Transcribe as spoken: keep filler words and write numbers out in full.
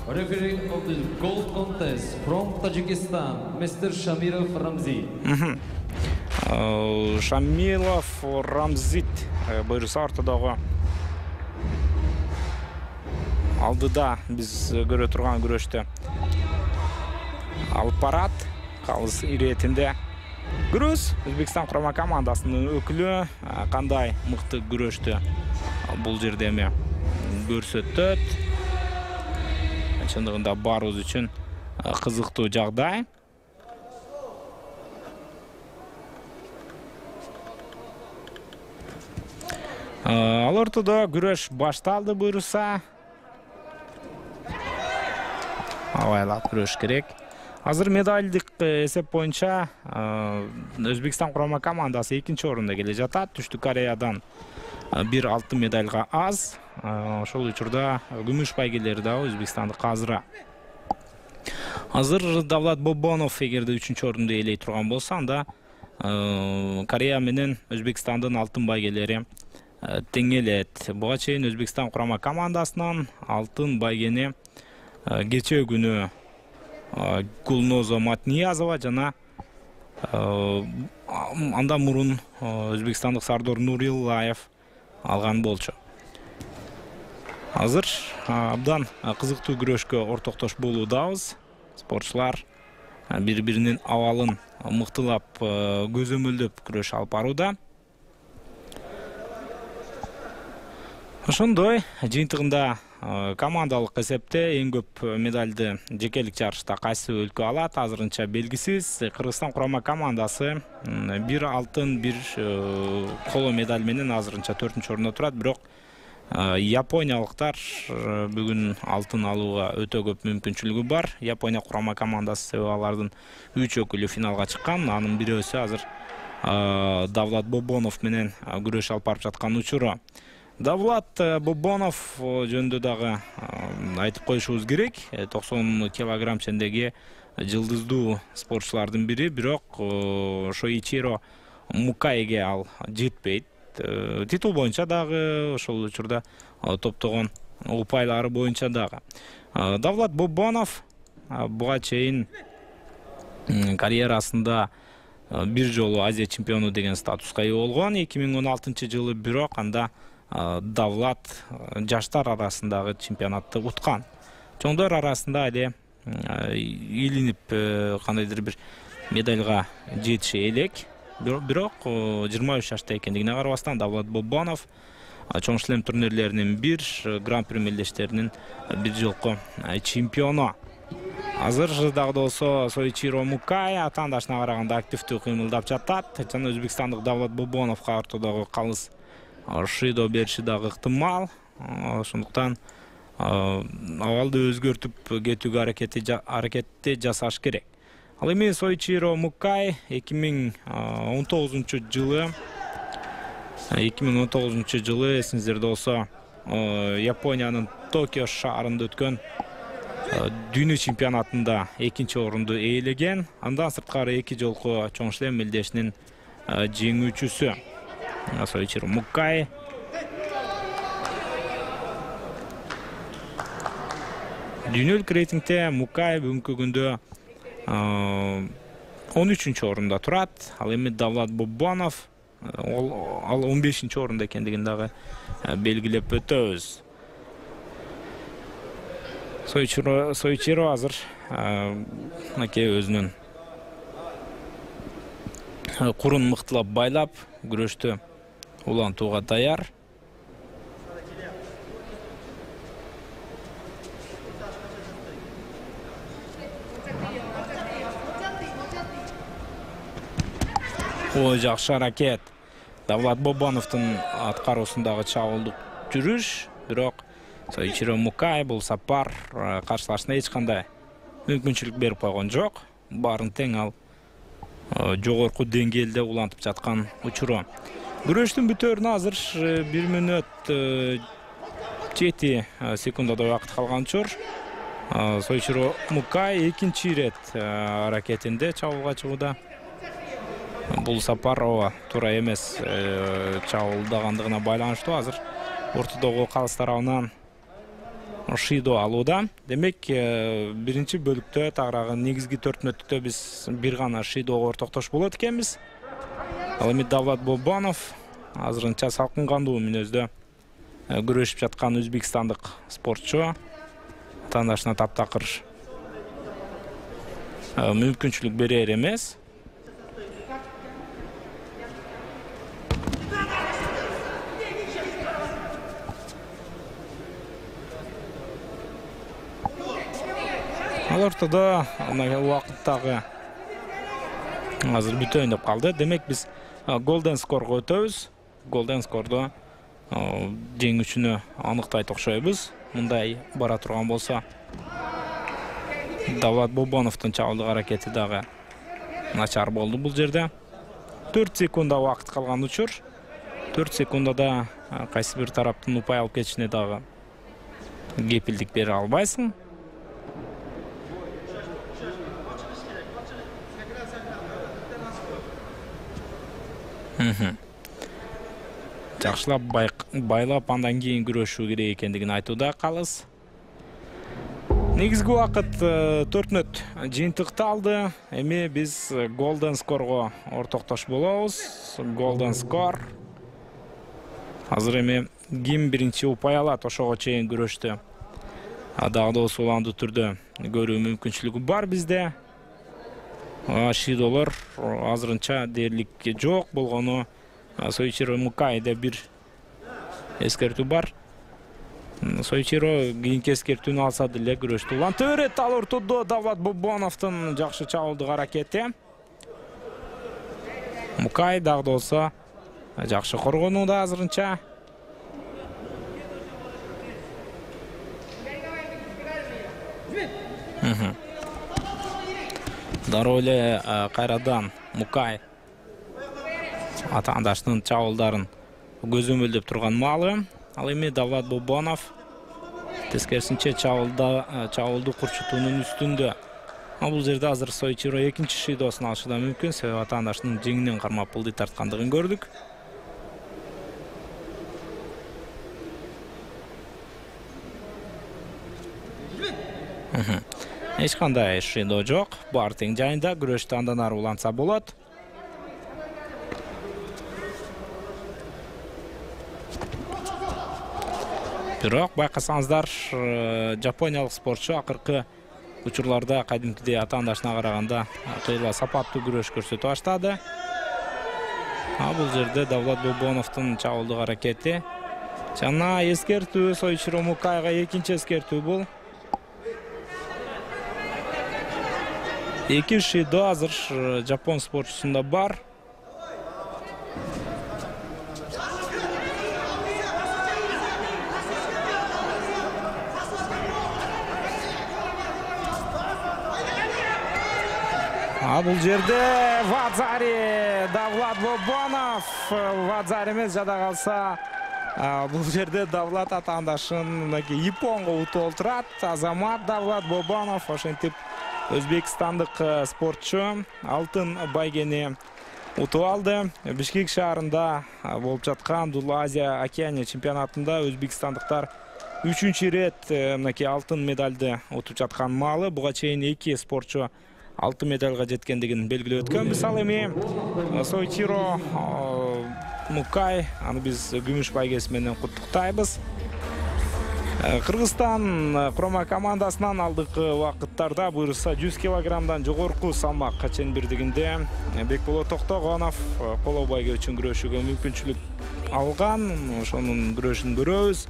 Referee of the gold contest from Tajikistan, Mister Shamirov Ramzi. Шамилов Рамзит буюрса ортодогу алдыда биз көрө турган күрөштө алып барат. Калыс иретинде күрөш Өзбекстан курама командасынын өкүлү кандай мыкты күрөштү бул жерде эми көрсөтөт. Чындыгында барыбыз үчүн кызыктуу жагдай. Ал ортодо күрөш башталды буюрса. Абайлап күрөш керек. Азыр медалдык эсеп боюнча Өзбекстан курама командасы экинчи орунда келе жатат. Түштүк Кореядан бир алтын медальга аз. Ошол учурда күмүш байгелери да өзбекстандык азыра. Азыр Давлат Бобонов эгерде үчүнчү орунду ээлей турган болсо, анда Корея менен Өзбекстандын алтын байгелери теңелет. Буга чейин Өзбекстан курама командасынан алтын байгени кечээ күнү Гулноза Матниязова жана андан мурун өзбекстандык Сардор Нуриллаев алган болчу. Азыр абдан кызыктуу күрөшкө ортоктош болуудабыз. Спортчулар бири-биринин абалын мыктылап көзөмөлдөп күрөш алып барууда. Ошондой жыйынтыгында командалык эсепте эң көп медалды жекелик жарышта кайсы өлкө алат азырынча белгисиз. Кыргызстан курама командасы бир алтын, бир коло медаль менен азырынча төртүнчү орунда турат, бирок япониялыктар бүгүн алтын алууга өтө көп мүмкүнчүлүгү бар. Япония курама командасы себеби алардын үч өкүлү финалга чыккан. Анын бирөөсү азыр Давлат Бобонов менен күрөш алып барып жаткан учуру. Давлат Бобонов жөнүндө дагы айтып коюшубуз керек. токсон килограмм чендеги жылдыздуу спортчулардын бири, бирок Шоичиро Мукайге ал жетпейт. Титул боюнча дагы, ошол учурда топтогон упайлары боюнча дагы. Давлат Бобонов буга чейин карьерасында бир жолу Азия чемпиону деген статуска ээ болгон. эки миң он алтынчы жылы бирок анда Давлат жаштар арасындагы чемпионатты уткан. Чоңдор арасында эле илинип кандайдыр бир медальга жетише элек. Бирок жыйырма үч жашта экендигине карабастан Давлат Бобонов чоң шлем турнирлеринин бир, гран-при мелдештеринин бир жолку чемпиону. Азыр дагы болсо Соичиро Мукай атаандашына караганда активдүү кыймылдап жатат. Жана өзбекстандык Давлат Бобоновго ортодогу калыс шыйдоо бериши дагы ыктымал. Ошондуктан абалды өзгөртүп кетүүгө аракетти жасаш керек. Ал эми Соичиро Мукай эки миң он тогузунчу жылы эки миң он тогузунчу жылы эсиңиздерде болсо Япониянын Токио шаарында өткөн дүйнө чемпионатында экинчи орунду ээлеген. Андан сырткары эки жолку чоң шлем мелдешинин жеңүүчүсү Соичиро Мукай. Дүйнөлүк рейтингде Мукай бүгүнкү күндө он үчүнчү орунда турат. Ал эми Давлат Бобонов ал он бешинчи орунда экендигин дагы белгилеп өтөбүз. Соичиро Соичиро азыр мынакей өзүнүн курун мыктылап байлап күрөштү улантууга даяр. О, жакшы аракет. Давлат Бобоновдун аткаруусундагы чабуулдук жүрүш, бирок Соичиро Мукай бул сапар каршылашына эч кандай мүмкүнчүлүк берип койгон жок. Баарын тең ал жогорку деңгээлде улантып жаткан учуру. Күрөштүн бүтөөрүнө азыр бир мүнөт жети секундадай убакыт калган учур. Соичиро Мукай экинчи ирет аракетинде чабуулга чыгууда. Бул сапар ооба туура эмес чабуулдагандыгына байланыштуу. Азыр ортодогу калыс тарабынан Шидо алууда. Демек, биринчи бөлүктө тагыраагы негизги төрт мүнөттүктө биз бир гана Шидого ортоктош болот экенбиз. Ал эми Давлат Бобонов азырынча салкын кандуу мүнөздө күрөшүп жаткан өзбекстандык спортчу атаандашына таптакыр мүмкүнчүлүк берер эмес. Ал ортодо убакыттагы азыр бүтөйүн деп калды. Демек, биз голден скорго өтөбүз. Голден скордо жеңүүчүнү аныктайт окшойбуз. Мындай бара турган болсо, Давлат Бобоновдун чабуулдук аракети дагы начар болду бул жерде. төрт секунда убакыт калган учур. төрт секундада кайсы бир тараптын упай алып кетишине дагы кепилдик бере албайсың. Жакшылап байлап андан кийин күрөшүү керек экендигин айтууда калыс. Негизги убакыт төрт мүнөт жыйынтыкталды. Эми биз голден скорго ортоктош болобуз. Голден скор. Азыр эми ким биринчи упай алат, ошого чейин күрөштү дагы да уландуу түрдө көрүү мүмкүнчүлүгү бар бизде. Шидолор азырынча дээрлик жок болгону Соичиро Мукайда бир эскертүү бар. Соичиро кийинки эскертүүнү алса деле күрөштү уланта берет. Ал ортодо Давлат Бобоновдун жакшы чабуулдук аракети. Мукай дагы да болсо жакшы коргонууда азырынча. Дароо эле кайрадан Мукай атаандашынын чабуулдарын көзөмөлдөп турган маалы. Ал эми Давлат Бобонов тескерисинче чабуулду курчутуунун үстүндө. Бул жерде азыр Соичиро экинчи шидосун алышы да мүмкүн, себеби атаандашынын жеңинен кармап былдый тарткандыгын көрдүк. Эч кандай шидо жок. Бар тең жайында күрөштү андан ары улантса болот. Бирок байкасаңыздар, жапониялык спортчу акыркы учурларда кадимкидей атаандашына караганда кыйла сапаттуу күрөш көрсөтүп баштады. Бул жерде Давлат Бобоновдун чабуулдук аракети жана эскертүү Соичиро Мукайга экинчи эскертүү бул. Эки шидо азыр жапон спортчусунда бар. А бул жерде Вадзари, Давлат Бобонов, Вадзари эмес жада калса, бул жерде Давлат атаандашын Японго утуп олтурат. Азамат Давлат Бобонов ошентип өзбекстандык спортчу алтын байгени утуп алды. Бишкек шаарында болуп жаткан Дулуу Азия Океания чемпионатында өзбекстандыктар үчүнчү ирет мынакей алтын медалды утуп жаткан маалы. Буга чейин эки спортчу алтын медальга жеткендигин белгилеп өткөнбүз. Ал эми Соичиро Мукай, аны биз күмүш байгеси менен куттуктайбыз. Кыргызстан курама командасынан алдыңкы убакыттарда буюрса жүз килограммдан жогорку салмак чембирдигинде Бекболот Токтогонов коло байгө үчүн күрөшүүгө мүмкүнчүлүк алган. Ошонун күрөшүн көрөбүз.